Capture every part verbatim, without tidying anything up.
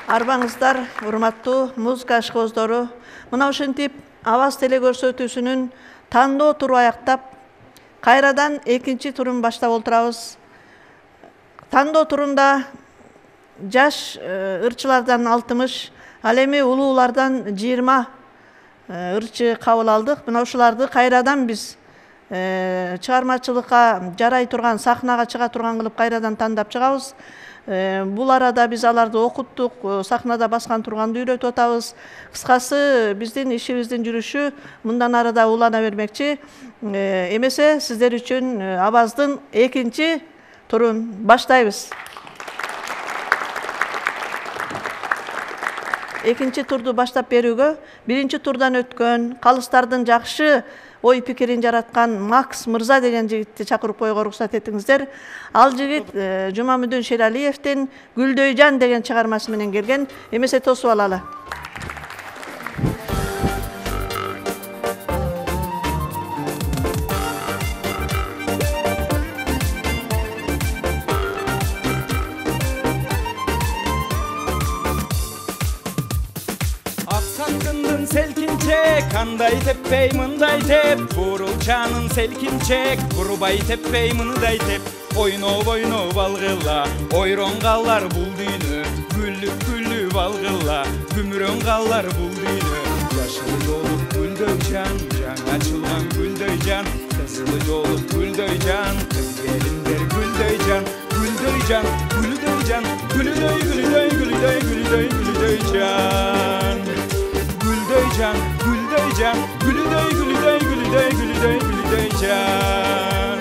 Арбаңыздар, урматтуу музыка ашкоздору, мына ушинтип Аваз теле көрсөтүүсүнүн тандоо туру аяктап, кайрадан экинчи турун баштап отурабыз. Тандоо турунда жаш ырчылардан алтымыш, ал эми улуулардан жыйырма ырчы кабыл алдык. Мына ушуларды кайрадан биз чыгармачылыкка жарай турган, сахнага чыга турган кылып кайрадан тандап чыгабыз. Бул арада биз аларды окуттук, сахнада баскан турганды үйрөтүп атабыз. Кыскасы биздин ишибиздин жүрүшү мындан ары да улана бермекчи. Эмесе сиздер үчүн Аваздын экинчи турун баштайбыз. Экинчи турду баштап берүүгө биринчи турдан өткөн, калыстардын жакшы ой пикирин жараткан Макс мырза деген жигитти чакырып коюуга уруксат этиңиздер. Ал жигит Жумамүдүн Шералиевдин Гүлдөйжан деген чыгармасы менен келген. Эмесе тосуп алалы. Кандай теппей мындай теп, бурулчанын селкинчек, бурбай теппей мындай теп. Ойноп ойноп алгыла, ойрон калар бул дүйнө, гүлүп гүлүп алгыла, күмүрөн калар бул дүйнө. Жашыл жолу гүлдөй жан, жаңа ачылган гүлдөй жан, кызыл жолу гүлдөй жан, кыз келиндер гүлдөй жан, гүлдөй жан, гүлдөй жан, гүлдөй гүлдөй гүлдөй гүлдөй гүлдөй жан. Gülday can, gülday can, gülday gülday gülday gülday gülday can.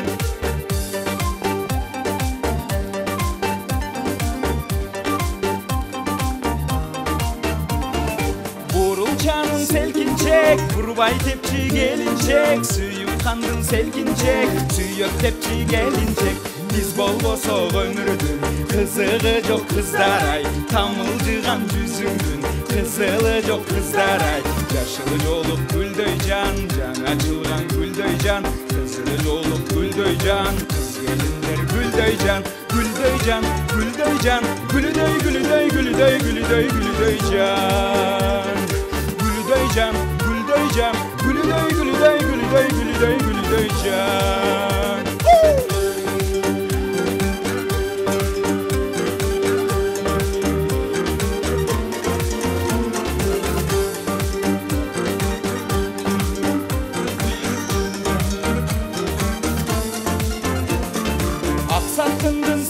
Burulcanın selkinçek, burbay tepçi gelinçek, suyuk kandın selkinçek, suyuk tepçi gelinçek. Biz bolboso ömürdün, kızığı yok kızdaray, tamılcıgan yüzündün, kızılı yok kızdaray. Yaşılı yoluk gülдөй can, жаңа açılgan gülдөй can, kızılı yoluk gülдөй can, kız gelinler gülдөй can, gülдөй can, gülдөй can, gülдөй gülдөy gülдөy gülдөy gülдөy can. Gülдөй can, gülдөy can, gülдөy gülдөy gülдөy gülдөy gülдөy can.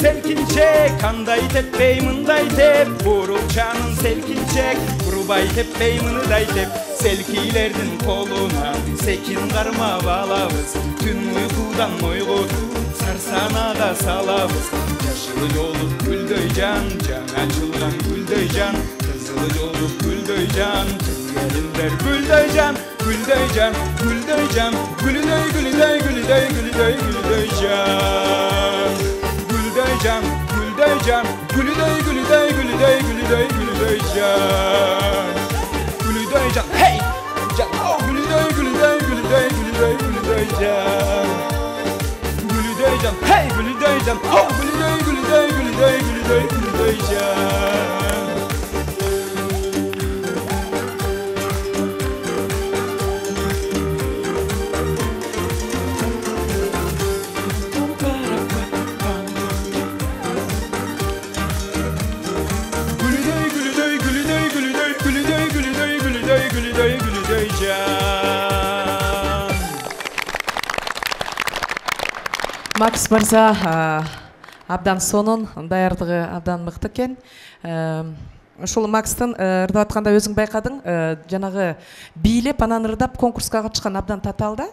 Selkinçek, kanday teppey mınday tep, burulçanın selkinçek, burbay teppey mınday tep. Selkilerдің koluna sekin karma balabız, tün uykudan oygudu sarsanaga salabız. Yaşılı yoluk gülдөй can, жаңа açılgan gülдөй can, kızılı yoluk gülдөй can, kız gelinler gülдөй can, gülдөй can, gülдөй can, gülдөy gülдөy gülдөy gülдөy gülдөy can. Gülдөy can, gülдөy can, gülдөy gülдөy gülдөy gülдөy gülдөy can. Gülдөy can, hey! Can, oh gülдөy gülдөy gülдөy gülдөy gülдөy can. Gülдөy can, hey gülдөy can, oh gülдөy gülдөy gülдөy gülдөy gülдөy can. Макс мырза абдан сонун, даярдыгы абдан мыкты экен. Ушул Макстын ырдап атканда өзүң байкадың, жанагы бийлеп анан ырдап конкурска катышкан абдан татаал да.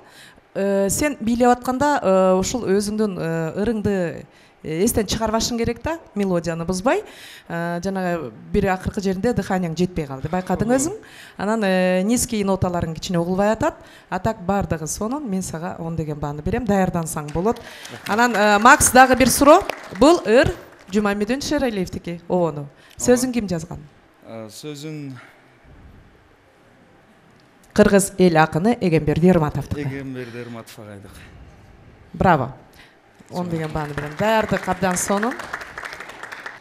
Сен бийлеп атканда ушул өзүңдүн ырыңды эстен чыгарбашың керек да, мелодияны бузбай. Жанагы бир акыркы жеринде дыханияң жетпей калды. Байкадың өзүң. Анан низкий ноталарың кичине угулбай атат. А так бардыгы сонун. Мен сага он деген бааны берем. Даярдансаң болот. Анан Макс дагы бир суроо. Бул ыр Жумамүдүн Шералиевдики. Обону. Сөзүн ким жазган? Сөзүн Кыргыз эл акыны Эгемберди Эрматовдук. Эгемберди Эрматов агайдык. Браво. он деген бааны берем. Даярдык абдан сонун.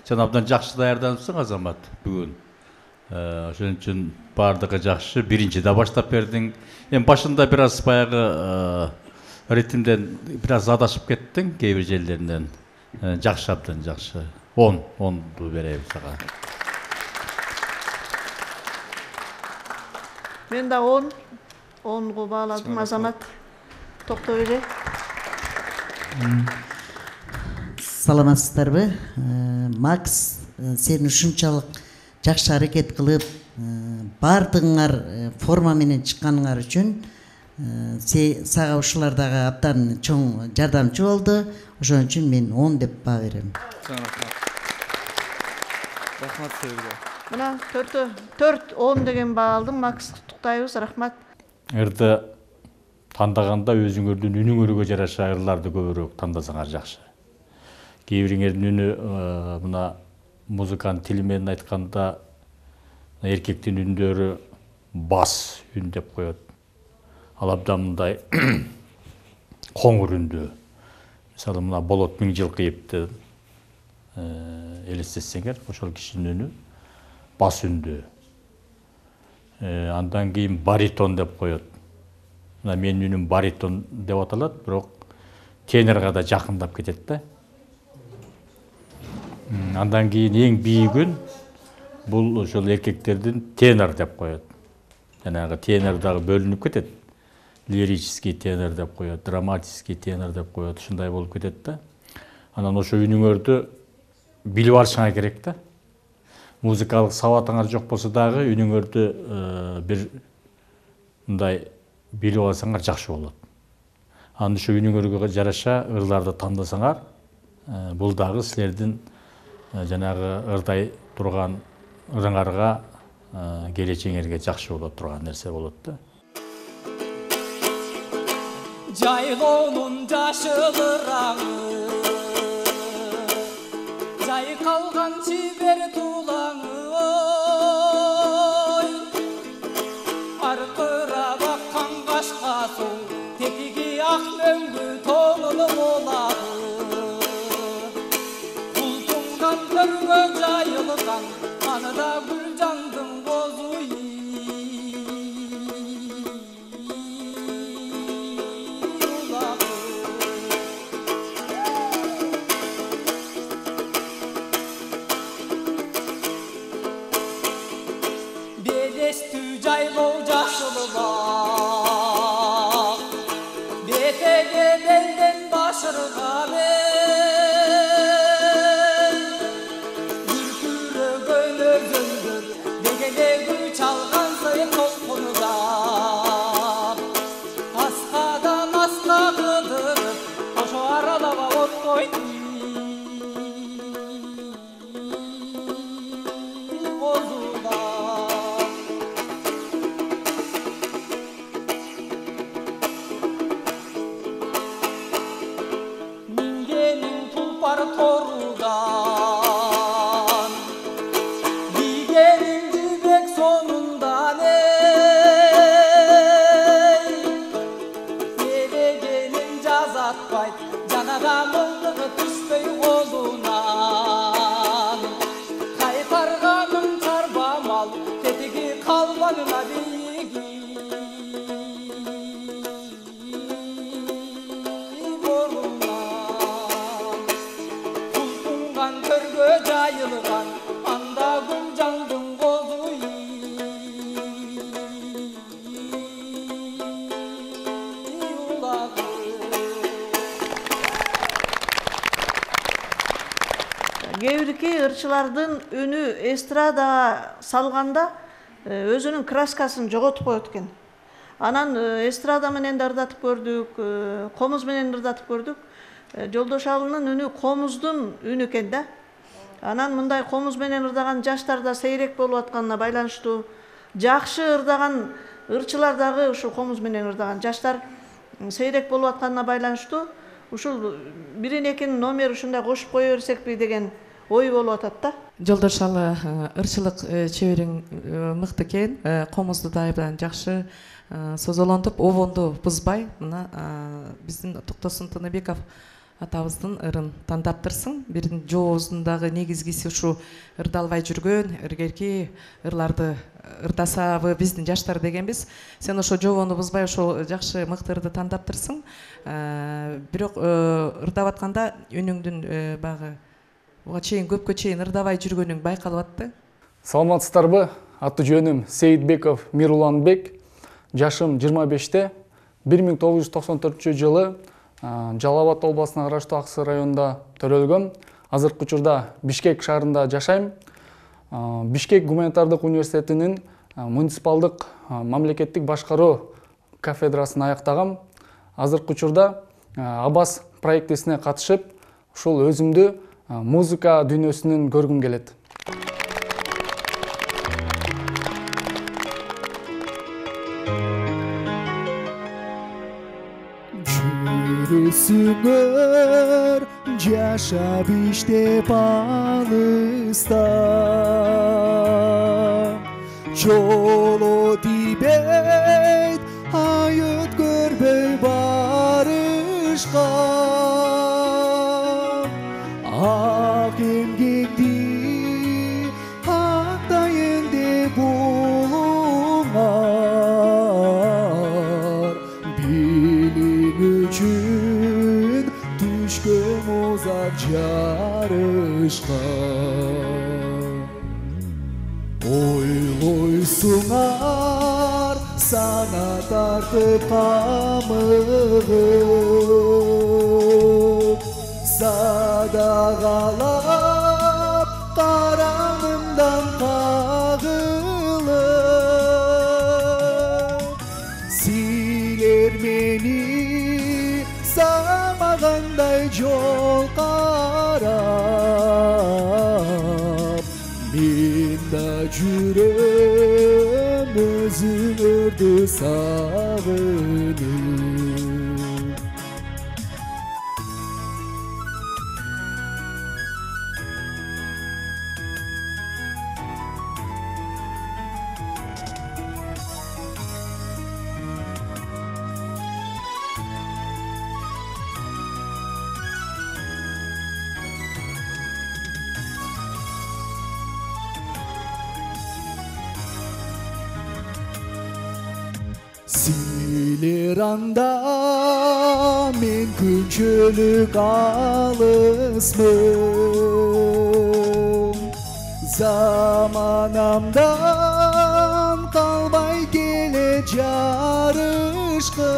Сен абдан жакшы даярданыпсың, Азамат, бүгүн. Ошон үчүн бардыгы жакшы. Биринчи да баштап бердиң. Эми башында бир аз баягы ритмден бир аз адашып кеттиң кээ бир жерлеринен. Жакшы, абдан жакшы. он, онду беребиз сага. Мен да он, онго бааладым. Азамат Токтобели. Саламатсыздарбы? Макс, сен ушунчалык жакшы аракет кылып, бардыгыңар форма менен чыкканыңар үчүн сага ушулар дагы абдан чоң жардамчы болду. Ошон үчүн мен он деп баа берем. Рахмат силерге. Мына төртө төрт он деген баа алдым. Макс, куттуктайбыз. Рахмат. Ырды тандаганда өзүңөрдүн үнүңөргө жараша ырларды көбүрөөк тандасаңар жакшы. Кээ бириңердин үнү мына музыканын тили менен айтканда эркектин үндөрү бас үн деп коет. Ал абдан мындай коңур үндүү. Мисалы мына Болот Миңжилкыевди элестетсеңер, ошол кишинин үнү бас үндүү. Андан кийин баритон деп коет. Мына менин үнүм баритон деп аталат, бирок тенорго да жакындап кетет да. Андан кийин эң бийигүн бул ошол эркектердин тенор деп коет. Жанагы тенор дагы бөлүнүп кетет. Лирический тенор деп коет, драматический тенор деп коет, ушундай болуп кетет да. Анан ошо үнүңөрдү билип алышыңар керек да. Музыкалык сабатыңар жок болсо дагы үнүңөрдү бир мындай билип алсаңар жакшы болот. Анан ошо үнүңөргө жараша ырларды тандасаңар, бул дагы силердин жанагы ырдай турган ырыңарга, келечегиңерге жакшы болот турган нерсе болот да. Жайлоонун жашылыраңы, жайкалган чибер тулаңы, ой, аркырап аккан кашка суу, тетиги ак мөңгү тоңуну болады. Бултунган төргө жайылган, аныда гүлжандын козу жайлоо жашылбак, бетеге белден башырга мен, бүркүрөгөн өзөңдөр, дегеле гүл чалган сайын толкунугап, аскадан аска кыдырып, ошо аралаба оттойт. Torudan, digenin dibek sonundan ey, sevegenin jazatpayt, janaga mıldığı түшпөй колунан, кайтарганын чарба мал, тетиги калбанына биги. Анда гүлжандын козу улады. Кээ бирки ырчылардын үнү эстрадага салганда өзүнүн краскасын жоготуп коет экен. Анан эстрада менен да ырдатып көрдүк, комуз менен ырдатып көрдүк. Жолдош Алынын үнү комуздун үнү экен да. Анан мындай комуз менен ырдаган жаштарда сейрек болуп атканына байланыштуу, жакшы ырдаган ырчылар дагы ушул комуз менен ырдаган жаштар сейрек болуп атканына байланыштуу, ушул бирин экинин номер ушундай кошуп кое берсекпи деген ой болуп атат да. Жолдош Алы, ырчылык чебериң мыкты экен, комузду да абдан жакшы созолонтуп, обонду бузбай, мына биздин Токтосун Тыныбеков атабыздын ырын тандаптырсың. Бирин жоозундагы негизгиси ушу ырдалбай жүргөн, ыргерки ырларды ырдасабы биздин жаштар дегенбиз. Сен ошо жообону бузбай ошо жакшы мыкты ырды тандаптырсың. Бирок ырдап атканда үнүңдүн багы буга чейин көпкө чейин ырдабай жүргөнүң байкалып атты. Саламатсыздарбы? Аты жөнүм Сейитбеков Мируланбек. Жашым жыйырма беште. бир миң тогуз жүз токсон төртүнчү жылы Жалал Абад областына караштуу Аксы районунда төрөлгөм. Азыркы учурда Бишкек шаарында жашайм. Бишкек гуманитардык университетинин муниципалдык мамлекеттик башкаруу кафедрасын аяктагам. Азыркы учурда Абас проектисине катышып, ушул өзүмдү музыка дүйнөсүнөн көргүм келет. Жүрүсүңөр жашап иштеп алыста, жолу тийбейт айыт көрбөй барышка, ак эмгекти актайын деп улуңар, билим үчүн түшкөн озак жарышка. Ойлойсуңар сана тартып камыгып, садагалап каранымдан кагылып, силер мени самагандай жол карап, мен да жүрөм өзүңөрдү сагынып. Силер анда мен күнчөлүк алысмын, заманамдан калбай келет жарышкым.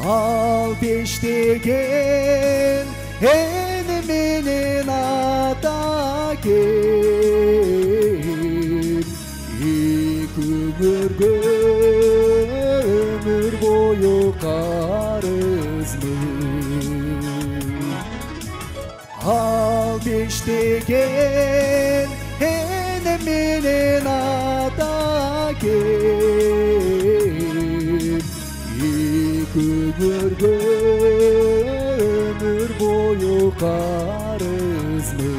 Ал бештеген эне менен ата экен, өмүргө өмүр бою карызмын. Ал бештеген эне менен ата экен, өмүргө өмүр бою карызмын.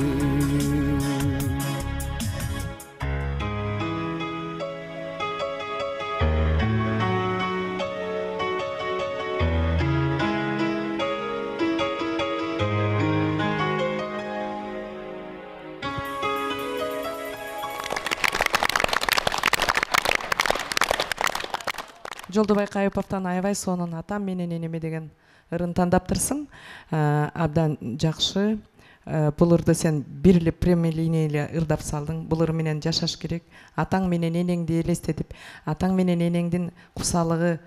Жолдобай Кайыповдон аябай сонун атам менен энеме деген ырын тандаптырсың. Абдан жакшы. Бул ырды сен бир эле прямолиния эле ырдап салдың. Бул ыр менен жашаш керек. Атаң менен энеңди элестетип, атаң менен энеңдин кусалыгы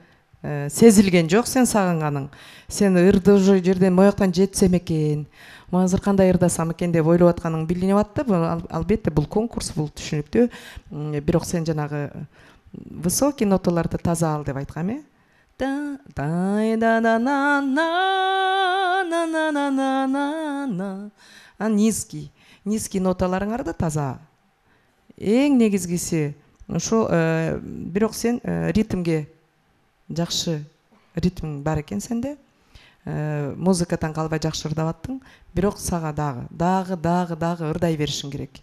сезилген жок сен сагынганың. Сен ырды уже жерден мояктан жетсем экен, азыр кандай ырдасам экен деп ойлоп атканың билинип атты. Албетте бул конкурс, бул түшүнүктүү. Бирок сен жанагы высокий ноталарды таза ал деп айткам, э? Да да да на на на на на на на на. А низкий, низкий ноталарыңарды таза. Эң негизгиси ошо, бирок сен ритмге жакшы ритм бар экен сенде. Музыкадан калбай жакшы ырдап аттың. Бирок сага дагы, дагы, дагы, дагы ырдай беришиң керек.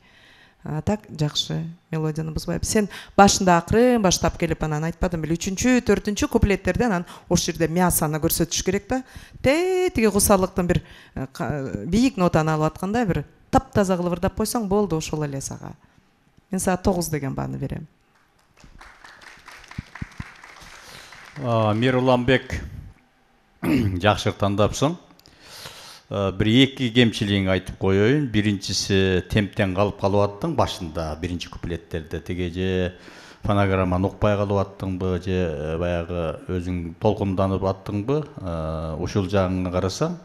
А так жакшы мелодияны бузбайбыз. Сен башында акырын баштап келип анан айтпадым беле үчүнчү, төртүнчү куплеттерде анан ошол жерде мясаны көрсөтүш керек да. Тетиги кусалыктын бир бийик нотаны алып атканда бир таптаза кылып ырдап койсоң болду, ошол эле сага. Мен сага тогуз деген бааны берем. Мируланбек, жакшы тандапсың. Бир эки кемчилигин айтып коеюн. Биринчиси темптен калып калып аттың башында, биринчи куплеттерде. Теге же фонограмманы укпай калып аттыңбы, же баягы өзүң толкунданып аттыңбы, ушул жагыңа карасаң.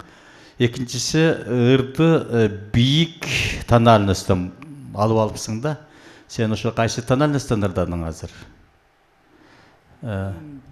Экинчиси ырды бийик тональностьтон алып алыпсың да. Сен ошо кайсы тональностьтон ырдадың азыр?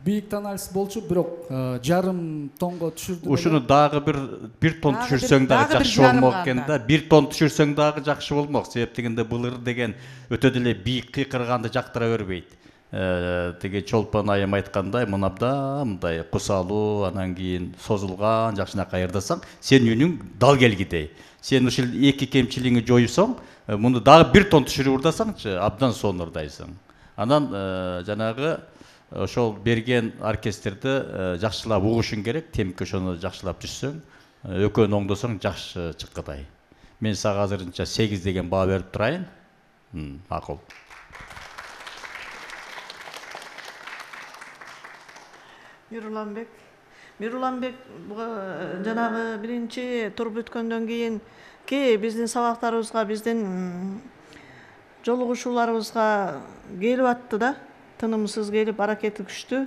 Бийик тональность болчу, бирок жарым тонго түшүрдүм. Ушуну дагы бир бир тон түшүрсөң дагы жакшы болмок экен да. Бир тон түшүрсөң дагы жакшы болмок. Себеп дегенде бул ыр деген өтө деле бийик кыйкырганды жактыра бербейт. Теге Чолпон айым айткандай, мынабда мындай кусалуу, анан кийин созулган жакшынакай ырдасаң, сен үнүң дал келгидей. Сен ушул эки кемчилигиңи жоюсоң, муну дагы бир тон түшүрүп ырдасаңчы, абдан сонун ырдайсың. Анан жанагы ошол берген оркестрди жакшылап угушуң керек, темпке ошону жакшылап түшсөң, экөөнү оңдосоң жакшы чыккыдай. Мен сага азырынча сегиз деген баа берип турайын. Макул. Мируланбек. Мируланбек жанагы биринчи тур бүткөндөн кийин ки биздин сабактарыбызга, биздин жолугушууларыбызга келип атты да. Тынымсыз келип аракети күчтүү.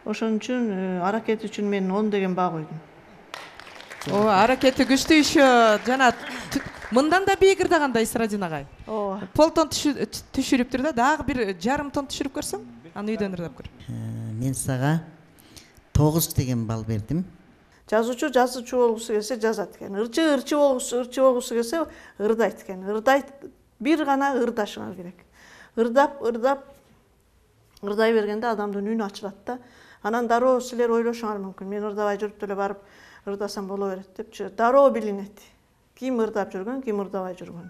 Ошон үчүн аракети үчүн мен он деген баа койдум. О, аракети күчтүү ишо жана мындан да бийик ырдагандай Исрадин агай. Ооба. Полтон түшүрүптүр да, дагы бир жарым тон түшүрүп көрсөң, аны үйдөн ырдап көр. Мен сага тогуз деген балл бердим. Жазуучу жазуучу болгусу келсе жазат экен. Ырчы ырчы болгусу ырчы болгусу келсе ырдайт экен. Ырдайт, бир гана ырдашыңар керек. Ырдап, ырдап ырдай бергенде адамдын үнү ачылат да. Анан дароо силер ойлошуңар мүмкүн. Мен ырдабай жүрүп деле барып ырдасам боло берет депчи. Дароо билинет. Ким ырдап жүргөн, ким ырдабай жүргөн.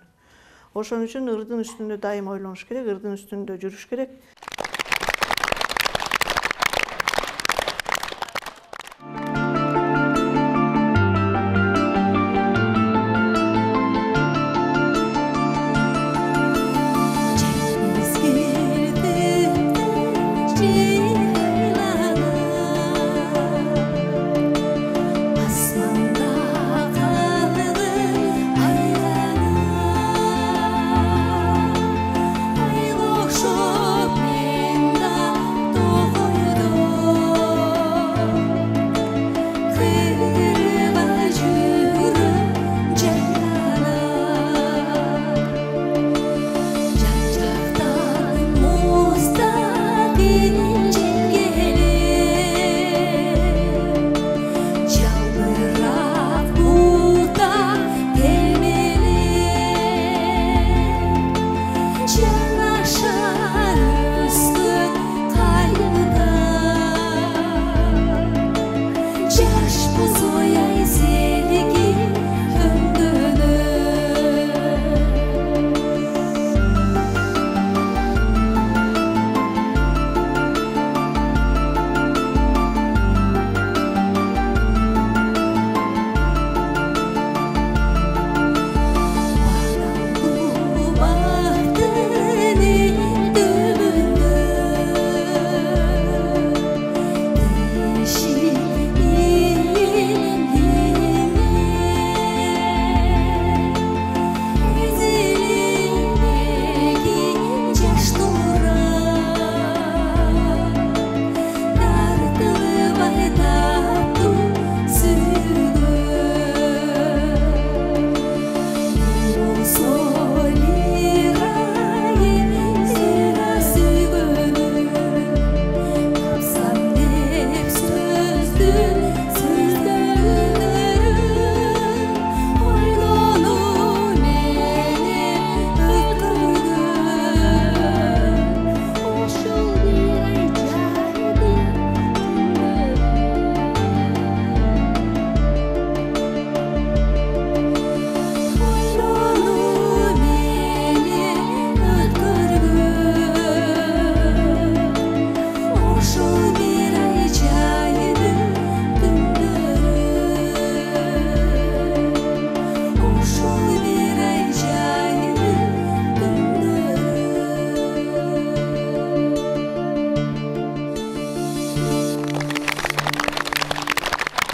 Ошон үчүн ырдын үстүндө дайым ойлонуш керек, ырдын үстүндө жүрүш керек. Show me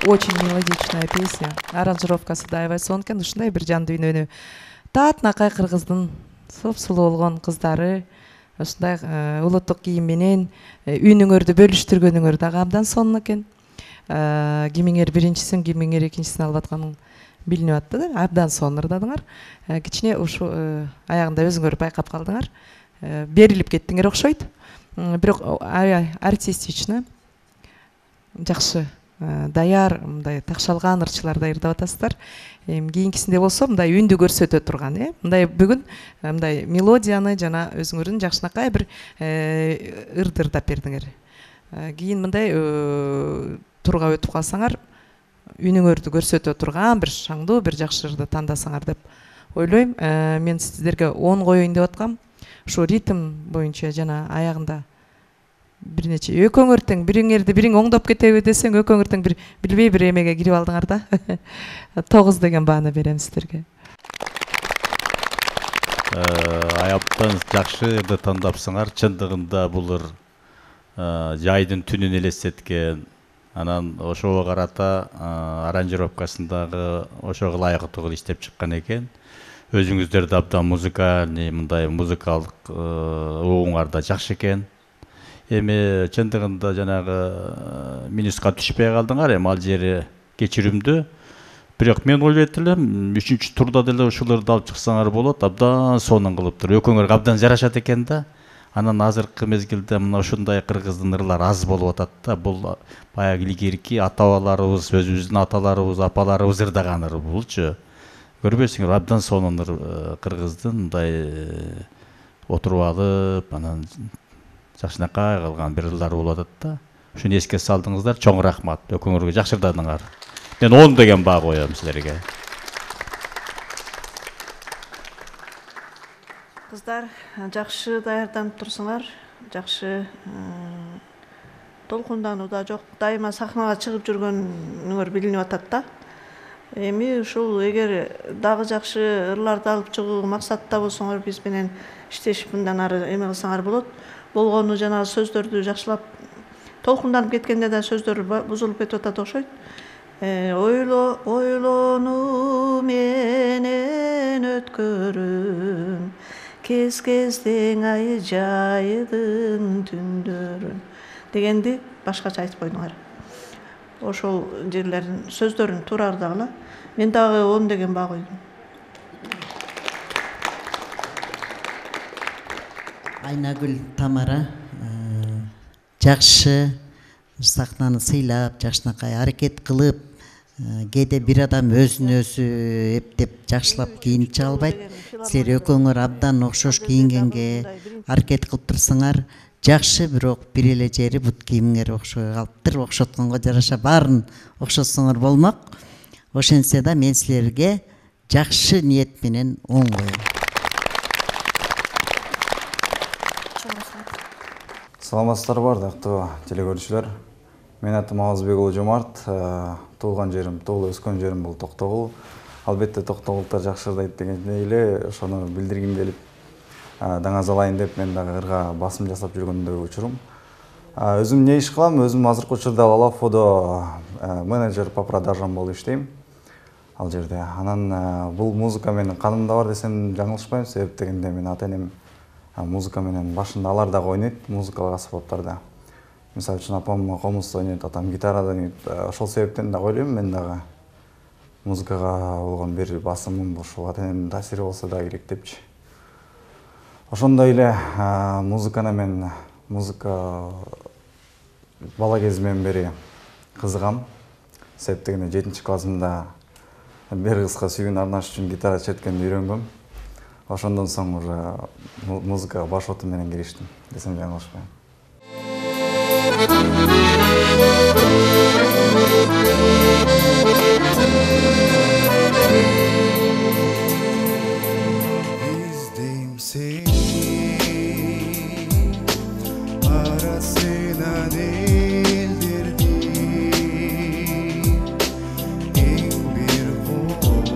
очень мелодичная песня. Аранжировкасы да аябай сонун экен. Ушундай бир жан дүйнөнү таатынакай кыргыздын сулуу болгон кыздары ушундай улуттук кийим менен үнүңөрдү бөлүштүргөнүңөр дагы абдан сонун экен. Кимиңер биринчисин, кимиңер экинчисин алып атканың билинип атты да, абдан сонун ырдадыңар. Кичине ушу аягында өзүңөр байкап калдыңар. Берилип кеттиңер окшойт. Бирок аябай артистично, жакшы, даяр, мындай такшалган ырчыларда ырдап атасыздар. Кийинкисинде болсо мындай үндү көрсөтө турган, э? Мындай бүгүн мындай мелодияны жана өзүңөрдүн жакшынакай бир ырды ырдап бердиңер. Кийин мындай турга өтүп калсаңар, үнүңөрдү көрсөтө турган бир шаңдуу, бир жакшы ырды тандасаңар деп ойлойм. Мен сиздерге он коеюн деп аткам. Ушу ритм боюнча жана аягында бир нече экөөңөр тең, бириңерди бириң оңдоп кетеби десең, экөөңөр тең бир билбей бир эмеге кирип алдыңар да. тогуз деген бааны берем сиздерге. Аябтан жакшы ырды тандапсыңар. Чындыгында бул ыр жайдын түнүн элестеткен. Анан ошого карата аранжировкасындагы ошого ылайыктуу иштеп чыккан экен. Өзүңүздөрдү абдан музыкальный, мындай музыкалдык угуңар да жакшы экен. Эми чындыгында жанагы минуска түшпөй калдыңар, эми ал жери кечиримдүү. Бирок мен ойлойт элем, үчүнчү турда деле ушуларды алып чыксаңар болот, абдан сонун кылыптыр. Экөөңөргө абдан жарашат экен да. Анан азыркы мезгилде мына ушундай кыргыздын ырлары аз болуп атат да. Бул баягы илгерки ата-бабаларыбыз, өзүбүздүн аталарыбыз, апаларыбыз ырдаган ыр булчу. Көрбөйсүңөр, абдан сонун кыргыздын мындай отуруп алып, анан жакшынакай калган бир ырлар болуп атат да. Ушуну эске салдыңыздар, чоң рахмат. Экөөңөргө жакшы ырдадыңар. Мен он деген баа коем силерге. Кыздар, жакшы даярданып турсуңар, жакшы толкундануу да жок, дайыма сахнага чыгып жүргөнүңөр билинип атат да. Эми ушул эгер дагы жакшы ырларды алып чыгуу максатта болсоңор, биз менен иштешип мындан ары эме кылсаңар болот. Болгону жанагы сөздөрдү жакшылап толкунданып кеткенде да сөздөр бузулуп кетип атат окшойт. Ойло, ойлонуу менен өткөрүм, кез-кездең ай жайдын түндөрүн дегенди башкача айтып койдуңар. Ошол жерлерин сөздөрүн туура ырдагыла. Мен дагы он деген баа койдум. Айнагүл Тамара жакшы сахнаны сыйлап, жакшынакай аракет кылып, кээде бир адам өзүн өзү эптеп жакшылап кийинип чыга албайт. Силер экөөңөр абдан окшош кийингенге аракет кылып турсаңар, жакшы, бирок бир эле жери бут кийимиңер окшой калыптыр. Окшотконго жараша баарын окшотсоңор болмок. Ошентсе да мен силерге жакшы ниет менен он коем. Саламатсыздарбы, ардактуу телекөрүүчүлөр. Менин атым Абазбек уулу Жомарт. Туулган жерим, туулуп өскөн жерим бул Токтогул. Албетте Токтогулдар жакшы ырдайт дегенде эле ошону билдиргим келип, даңазалайын деп мен дагы ырга басым жасап жүргөндө учурум. Өзүм эмне иш кылам? Өзүм азыркы учурда Лалафодо менеджер по продажам болуп иштейм. Ал жерде. Анан бул музыка менин канымда бар десем жаңылышпайм, себеп дегенде мен ата-энем музыка менен башында алар дагы ойнойт, музыкалык аспаптарда. Мисалы үчүн апам комуз ойнойт, атам гитарада ойнойт. Ошол себептен да ойлойм, мен дагы музыкага болгон бир басымым ушул ата-энемдин таасири болсо да керек депчи. Ошондой эле музыканы мен музыка бала кезимден бери кызыгам. Себеп дегенде жетинчи классымда бир кызга сүйүүнү арнаш үчүн гитара черткенди үйрөнгөм. Ошондон соң уже музыкага баш оту менен кириштим десем жаңылышпайм. İzdeyim seni arasından eldirdim en bir koz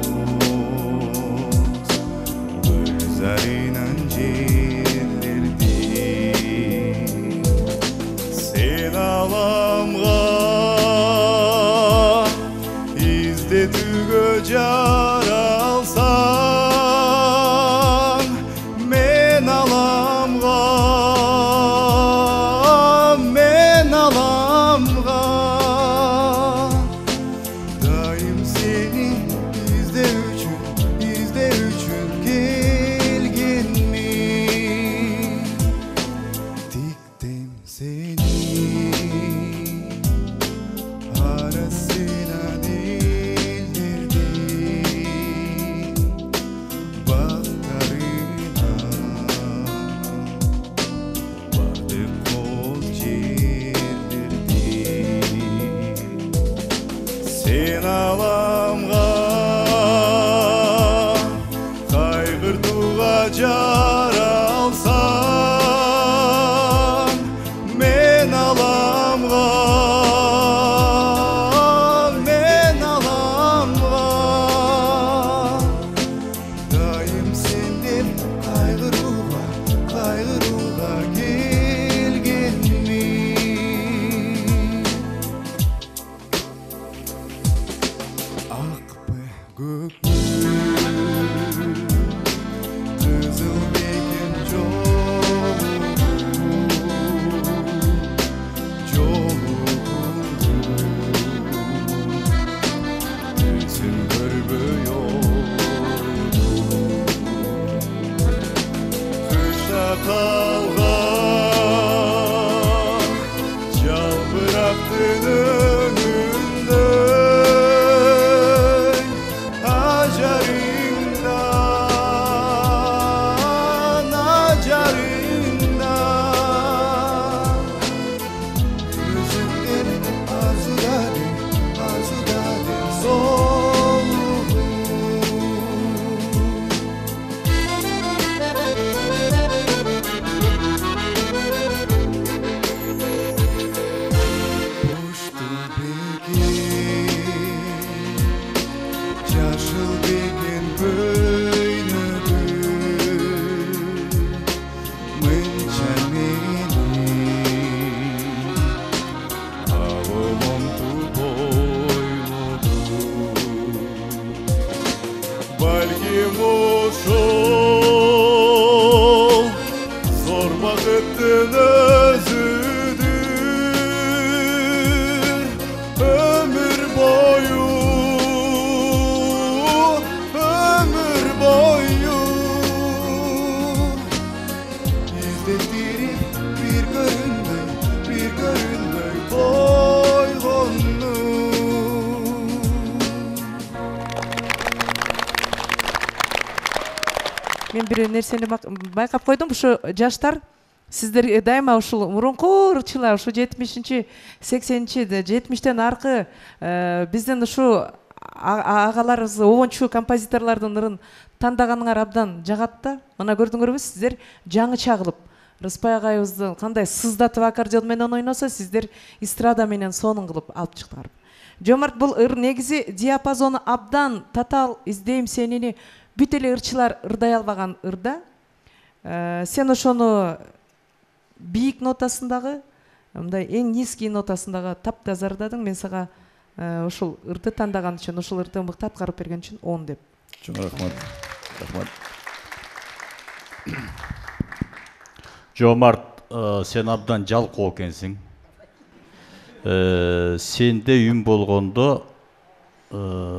gözlerinden celdirdim sen alamga жыртууга жаралсам мен аламга мен аламга дайым сенден кайгырууга кайгырууга келгенмин акпы көк кызыл бекен өзүн көрбөй кышта калган жалбырактын өңүндөй ажарыңдан ажарыңдан өзүңден азудадым азудадым соолугум Ушту бекен жашыл бекен көйнөгү мынча менин аомомду бойлоду балким ошол зор бакыттын өзүдүр өмүр бою өмүр бою издеттирип бир көрүнбөй бир көрүнбөй койгону Мен бир нерсени бак- байкап койдум. Ушу жаштар сиздер дайыма ушул мурунку ырчылар, ушу жетимишинчи, сексенинчи, жетимиштен аркы э, биздин ушу а- агаларыбыз обончу композиторлордун ырын тандаганыңар абдан жагат да. Мына көрдүңөрбү, сиздер жаңыча кылып Рыспай агайыбыздын кандай сыздатып аккордеон менен ойносо, сиздер эстрада менен сонун кылып алып чыктыңар. Жомарт, бул ыр негизи диапазону абдан татаал издейм сенини бүт эле ырчылар ырдай албаган ырда. Э, Сен ошону бийик нотасындагы, мындай эң низкий нотасындагы таптаза ырдадың. Мен сага э, ушул ырды тандаган үчүн, ушул ырды мыкты аткарып берген үчүн он деп. Чоң рахмат. Рахмат. Жомарт, э, сен абдан жалкоо экенсиң. Э, Сенде үн болгондо э,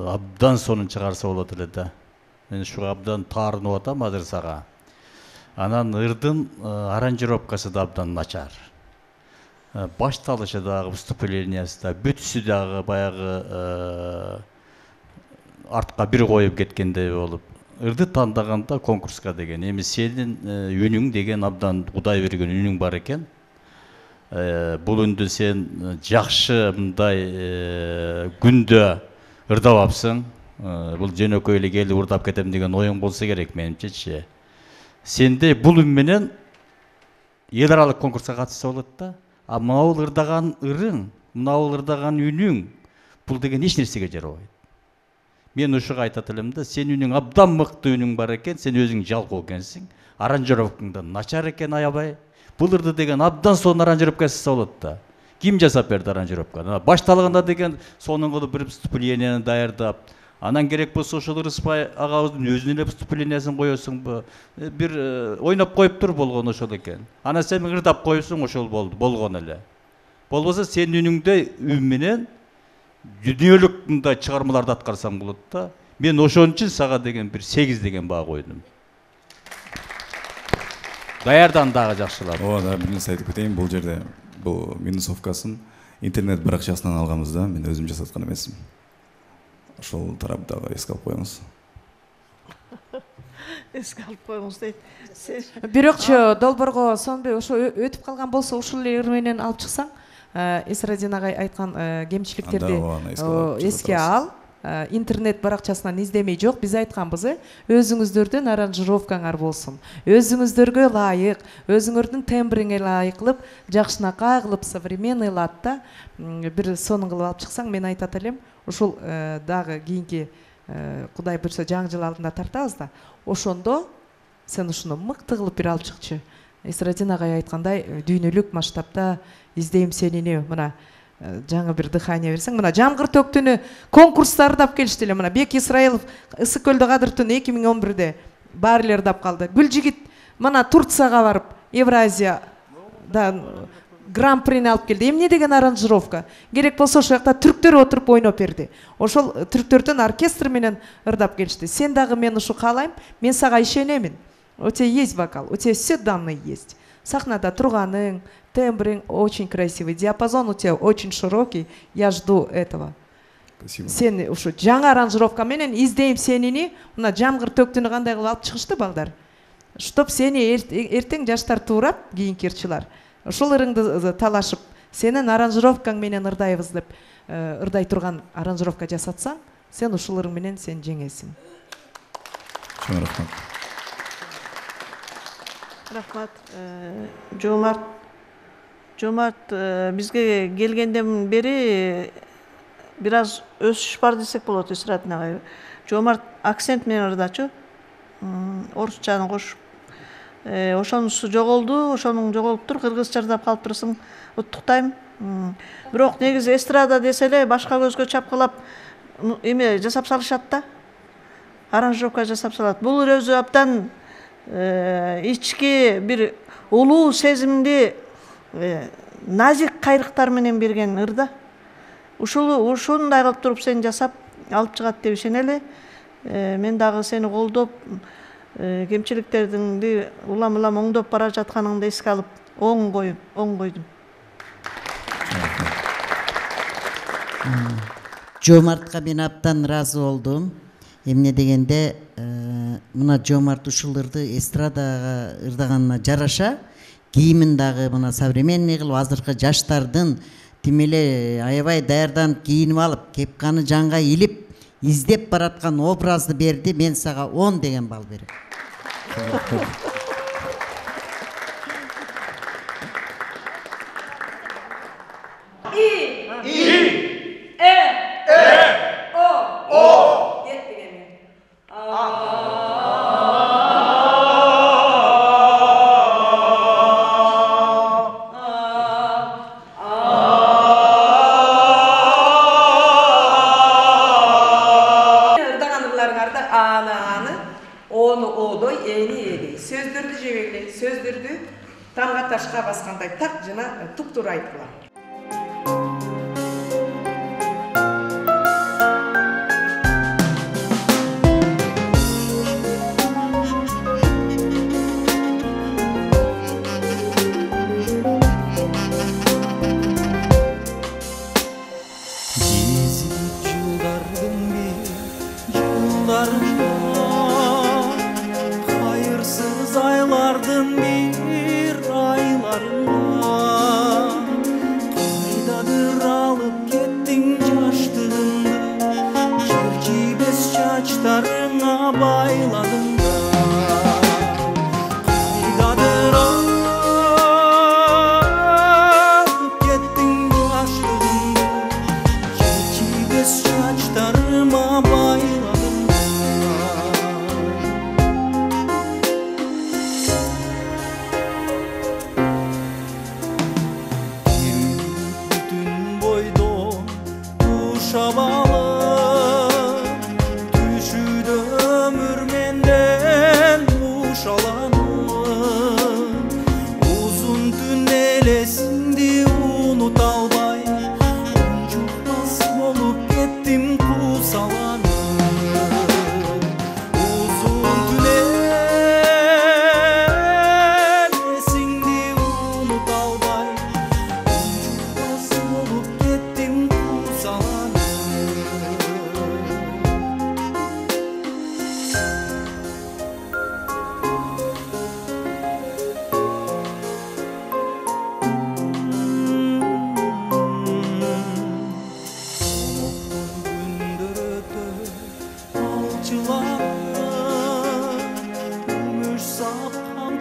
абдан сонун чыгарса болот эле да. Мен ушуга абдан таарынып атам азыр сага. Анан ырдын э, аранжировкасы да абдан начар. Э, Башталышы дагы, выступлениясы да, бүтүсү дагы баягы э, артка бир коюп кеткендей болуп. Ырды тандаганда конкурска деген, эми сенин э, үнүң деген абдан Кудай берген үнүң бар экен. Э, Бул үндү сен э, жакшы мындай э, күндө ырдабапсың. Э, Бул жөнөкөй эле келип ырдап кетем деген оюң болсо керек менимчечи. Сенде бул үн менен эл аралык конкурска катышса болот да. А мынау ырдаган ырың, мынау ырдаган үнүң бул деген эч нерсеге жарабайт. Мен ушуга айтат элем да, сен үнүң абдан мыкты үнүң бар экен, сен өзүң жалкоо экенсиң. Аранжировкаң да начар экен аябай. Бул ырды деген абдан сонун аранжировка жасаса болот да. Ким жасап берди аранжировканы? Башталганда деген сонун кылып бир выступленияны даярдап, анан керек болсо ошол Рыспай агабыздын өзүнүн эле выступлениесин коесуңбу? Бир э, ойноп коюп тур болгон ошол экен. Анан сен ырдап коюпсуң, ошол болду, болгон эле. Болбосо сен үнүңдө үн менен дүниөлүк мындай чыгармаларды аткарсаң болот да. Мен ошон үчүн сага деген бир сегиз деген баа койдум. Даярдан дагы жакшылап. Ооба, да, бир нерсе айтып кетейин. Бул жерде бул минусовкасын интернет баракчасынан алганбыз да, мен өзүм жасаткан эмесмин. Ошол тарап дагы эске алып коюңуз. Эске алып коюңуз дейт. Бирокчу долбоорго сонбой ошо өтүп калган болсо ушул эле ыр менен алып чыксаң, Эсрадин агай айткан кемчиликтерди эске ал. интернет баракчасынан издемей жок, биз айтканбыз, э, өзүңүздөрдүн аранжировкаңар болсун. Өзүңүздөргө ылайык, өзүңөрдүн тембриңе ылайык кылып, жакшынакай кылып, современный латта бир сонун кылып алып чыксаң, мен айтат элем, ушул дагы кийинки Кудай буйрса жаңы жыл алдында тартабыз да. Ошондо сен ушуну мыкты кылып бир алып чыкчы. Эсрадин агай айткандай, дүйнөлүк масштабта издейм сенини, мына жаңы бир дыхание берсең, мына жамгыр төктүнү конкурстар дап келишти эле. Мына Бек Исраилов Ысык көлдө кадыр түнү эки миң он бирде баарлер дап калды. Гүлжигит мына Турцияга барып, Евразияда гран-прини алып келди. Эмне деген аранжировка? Керек болсо ошол жакта түрктөр отуруп ойноп берди. Ошол түрктөрдүн оркестр менен ырдап келишти. Сен дагы мен ушу каалайм, мен сага ишенемин. У тебя есть вокал, у тебя все данные есть. Сахнада турганың, тембриң очень красивый, диапазон у тебя очень широкий. Я жду этого. Спасибо. Сен ушу жаңы аранжировка менен издейм сенини, мына жамгыр төктүнү кандай кылып алып чыгышты балдар. Чтоб сени эртең жаштар туурап, кийинки ырчылар. Ошол ырыңды талашып, сенин аранжировкаң менен ырдайбыз деп ырдай турган аранжировка жасатсаң, сен ушул ырың менен сен жеңесиң. Чоң рахмат. Рахмат. Жомарт Жомарт бизге келгенден бери бир аз өсүш бар десек болот, Исрадин агай. Жомарт акцент менен ырдачу. Орусчаны кошуп. Ошонусу жоголду, ошонун жоголуптур, кыргызча ырдап калып турсуң, уттуктайм. Бирок негизи эстрада десе эле башка көзгө чапкылап эме жасап салышат да. Аранжировка жасап салат. Бул өзү абдан ички бир улуу сезимди назик кайрыктар менен берген ырда. Ушул ушундай кылып туруп сен жасап алып чыгат деп ишенели. Мен дагы сени колдоп, кемчиликтерди улам-улам оңдоп бара жатканыңды эске алып, оң коюм, оң койдум. Жомартка мен абдан ыраазы болдум. Эмне дегенде, мына Жомарт ушул ырды эстрадага ырдаганына жараша, кийимин дагы мына современный кылып, азыркы жаштардын тим эле аябай даярданып кийинип алып, кепканы жанга илип, издеп бараткан образды берди. Мен сага он деген балл берем. И И Э Э О О Yetmegeni. Irdaganlarыңарда аны аны, оны одой, эни эни. Сөздөрдү жебегиле, сөздөрдү тамга ташка баскандай так жана тук-тура айткыла. Кайырсыз айлардын бир айларында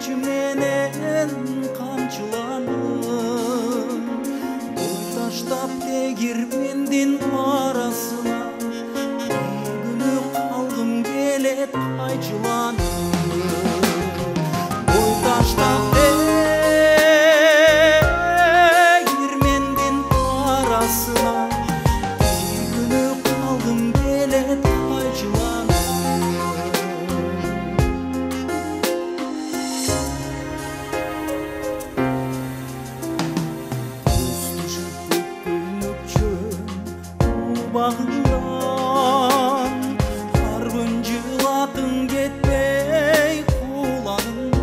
күнчү менен камчыланып бой таштап тегирмендин арасына күнү калгым келет кайчыланып бой таштап тегирмендин арасына күнү калгым келет кайчыланып багынан аргын жылатын кетпей кулагынан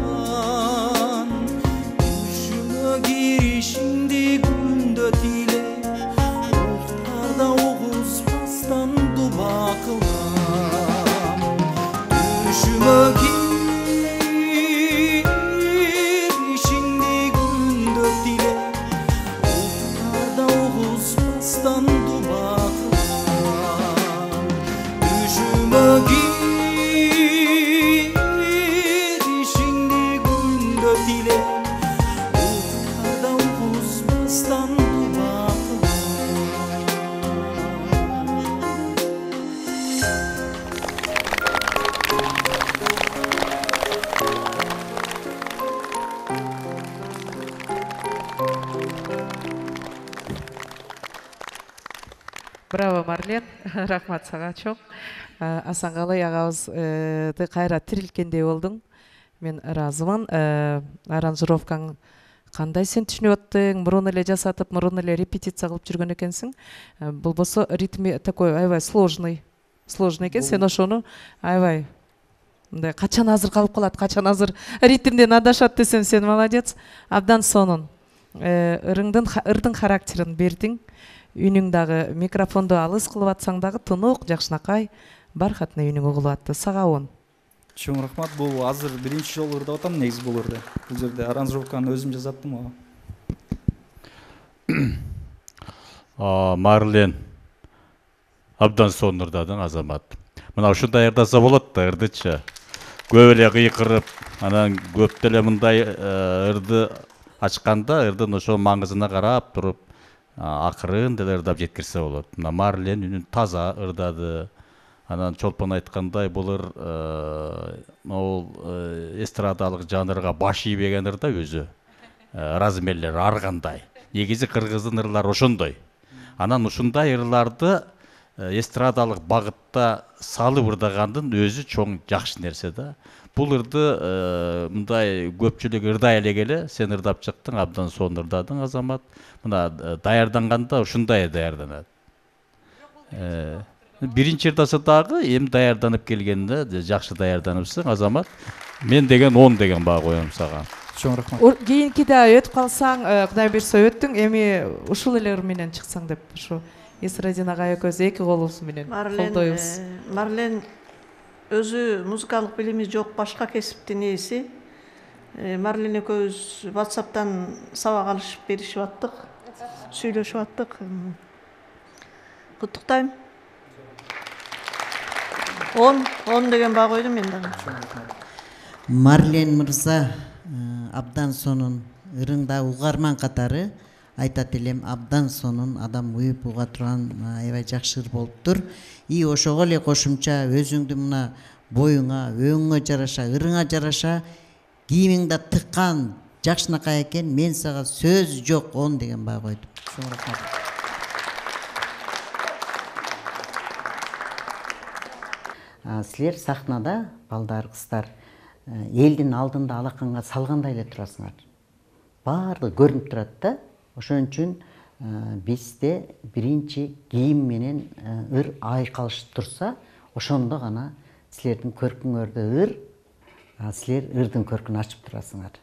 түшүмө киришиңди күндө тилеп уктарда угузбастан дуба кылам түшүмө киришиңди күндө тилеп уктарда угузбастан дуба girişingdi gündö dile ukarda uğuzbastan duba Браво, Марлен. Рахмат сага чоң. Асангалый агабызды кайра тирилткендей болдуң. Мен ыраазымын. Аранжировкаң кандай сен түшүнүп аттың? Мурун эле жасатып, мурун эле репетиция кылып жүргөн экенсиң. Болбосо ритми такой аябай сложный. Сложный экен. Сен ошону аябай мындай качан азыр калып калат, качан азыр ритмден адашат десем, сен молодец. Абдан сонун. Ырыңдын ырдың характерин бердиң. Үнүң дагы микрофонду алыс кылып атсаң дагы тунук, жакшынакай, бархатный үнүң угулуп атты. Сага он. Чоң рахмат. Бул азыр биринчи жолу ырдап атам, негизи бул ырды. Бул жерде аранжировканы өзүм жасаттым ага. Марлен абдан сонун ырдадың, Азамат. Мына ушундай ырдаса болот да, ырдычы. Көп эле кыйкырып, анан көп деле мындай ырды ачканда, ырдын ошол маңызына карап туруп, акырын деле ырдап жеткирсе болот. Мына Марлен үнүн таза ырдады. Анан Чолпон айткандай, бул ыр могул эстрадалык жанрга баш ийбеген ырда өзү. Размерлер ар кандай. Негизи кыргыздын ырлары ошондой. Анан ушундай ырларды эстрадалык багытта салып ырдагандын өзү чоң жакшы нерсе да. Бул ырды мындай көпчүлүк ырдай элегеле, сен ырдап чыктың, абдан сонун ырдадың, Азамат. Мына даярданганда ушундай даярданат. Биринчи ырдаса дагы эми даярданып келгенде жакшы даярданыпсың, Азамат. Мен деген он деген баа коем сага. Чоң рахмат. Кийинки да өтүп калсаң, Кудай буйрса өттүң, эми ушул эле ыр менен чыксаң деп, ушу Эсрадин агай экөөбүз эки колубуз менен колдойбуз. Марлен өзү музыкалык билими жок, башка кесиптин ээси. Марлен экөөбүз WhatsApp'тан сабак алышып беришип аттык, сүйлөшүп аттык. Куттуктайм. он, он деген баа койдум мен дагы. Марлен мырза абдан сонун ырыңда угарман катары айтат элем, абдан сонун адам уюп уга турган аябай жакшы ыр болуптур. И ошого эле кошумча өзүңдү мына боюңа, өңүңө жараша, ырыңа жараша кийимиңди тыккан жакшынакай экен. Мен сага сөз жок, он деген баа койдум. Чоң рахмат. Силер сахнада, балдар, кыздар, элдин алдында алаканга салгандай эле турасыңар. Баардыгы көрүнүп турат да. Ошон үчүн бизде биринчи кийим менен ыр айкалышып турса, ошондо гана силердин көркүңөрдө ыр, силер ырдын көркүн ачып турасыңар.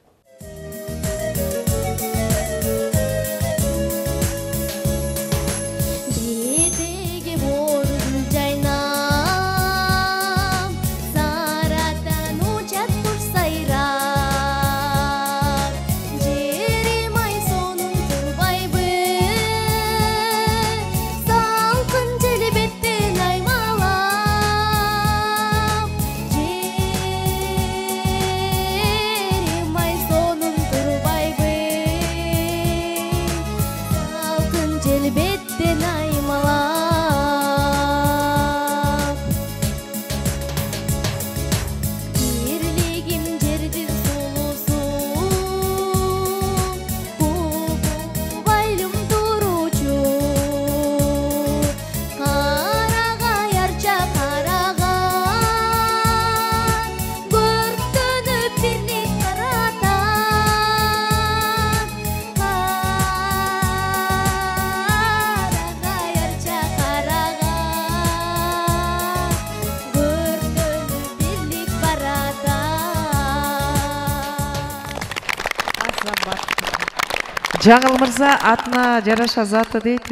Жаңыл мырза атына жараша заты дейт,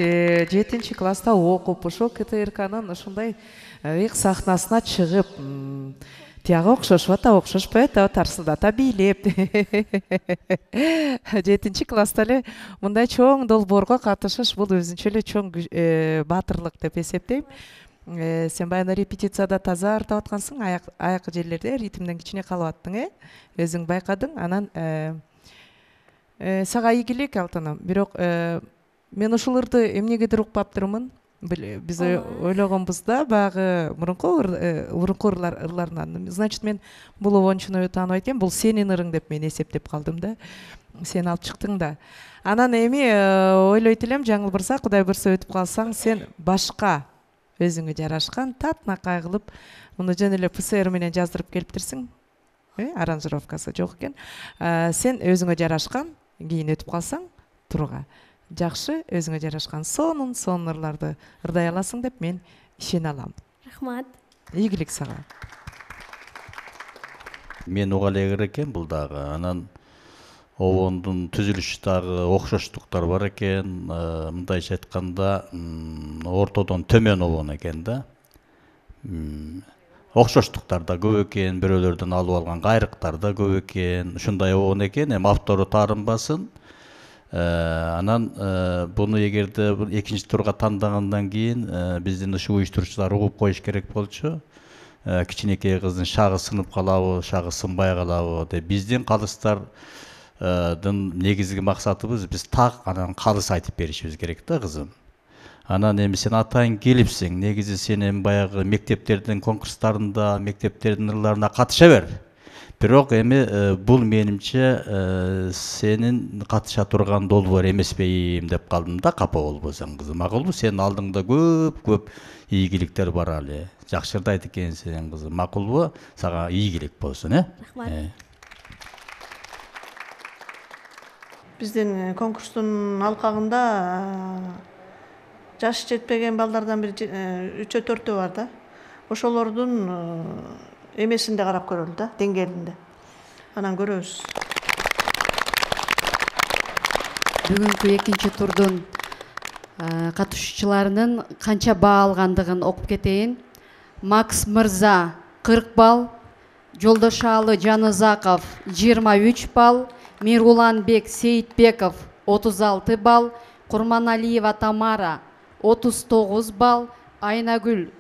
жетинчи класста окуп, ошол КТРКнын ушундай ыйык сахнасына чыгып, тияга окшошуп ата, окшошпойт, тарсылдата бийлеп. жетинчи класста эле мындай чоң долбоорго катышыш бул өзүнчө эле чоң баатырлык деп эсептейм. Сен баягы репетицияда таза артап аткансың, аяк аяк жерлерде ритмден кичине калып аттың, э? Өзүң байкадың, анан сага ийгилик Алтыным. Бирок мен ушуларды эмнегедир укпаптырмын. Биз ойлогонбузда баягы мурунку мурунку ырларынан. Значит, мен бул обончуну тааныбайт экем, бул сенин ырың деп мен эсептеп калдым да. Сен алып чыктың да. Анан эми ойлойт элем, Жаңыл мырза, Кудай буйрса өтүп калсаң, сен башка өзүңө жарашкан татнакай кылып, муну жөн эле ПСР менен жаздырып келиптирсиң. Э, аранжировкасы жок экен. Сен өзүңө жарашкан, кийин өтүп калсаң, турга жакшы өзүңө жарашкан сонун сонун ырларды ырдай аласың деп мен ишене алам. Рахмат. Ийгилик сага. Мен уга эле экен бул дагы. Анан обондун түзүлүшү дагы окшоштуктар бар экен. Мындайча айтканда, ортодон төмөн обон экен да. Окшоштуктар да көп экен, бирөөлөрдөн алып алган кайрыктар да көп экен. Ушундай обон экен, эми автору таарынбасын. Анан буну эгерде экинчи турга тандагандан кийин биздин ушул уюштуруучулар угуп коюш керек болчу. Кичинекей кыздын шагы сынып калабы, шагы сынбай калабы деп. Биздин калыстардын негизги максатыбыз биз так анан калыс айтып беришибиз керек да, кызым. Анан эми сен атайын келипсиң, негизи сен эми баягы мектептердин конкурстарында, мектептердин ырларына катыша бер. Бирок эми бул менимче сенин катыша турган долбоор эмеспейм деп калдым да, капа болбосоң, кызым. Макулбу? Сенин алдыңда көп-көп ийгиликтер бар эле. Жакшы ырдайт экенсиң, кызым. Макулбу? Сага ийгилик болсун, э? Рахмат. Биздин конкурстун алкагында жаш жетпеген балдардан бир үчөө төртөө бар да. Ошолордун эмесинде карап көрөлү да, деңгээлинде. Анан көрөбүз. Бүгүнкү экинчи турдун катышуучуларынын канча баа алгандыгын окуп кетейин. Макс мырза кырк балл, Жолдошалы Жанызаков жыйырма үч балл, Мируланбек Сейитбеков отуз алты балл, Курманалиева Тамара отуз тогуз балл, Айнагүл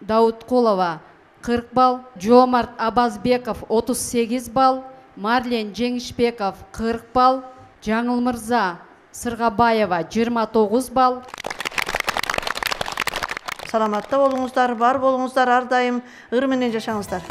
Даудкулова кырк балл, Жомарт Абазбеков отуз сегиз балл, Марлен Жеңишбеков кырк балл, Жаңыл мырза Сыргабаева жыйырма тогуз балл. Саламатта болуңуздар, бар болуңуздар, ар дайым ыр менен жашаңыздар.